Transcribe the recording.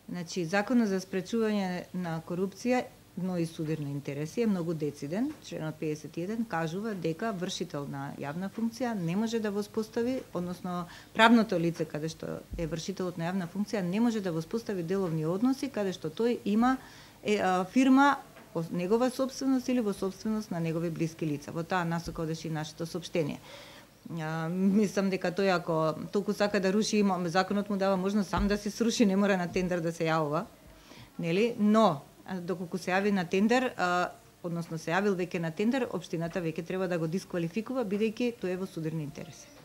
Значи, Законот за спречување на корупција, но и судирни интереси е многу дециден. Членот 51 кажува дека вршител на јавна функција не може да воспостави, односно правното лице каде што е вршителот на јавна функција не може да воспостави деловни односи каде што тој има фирма негова собственост или во собственост на негови блиски лица. Во таа насока одеше и нашето соопштение. Мислам дека тој ако толку сака да руши, законот му дава можност сам да се сруши, не мора на тендер да се јавува, нели? Но доколку се јави на тендер, односно се јавил веќе на тендер, општината веќе треба да го дисквалификува бидејќи тој е во судирни интереси.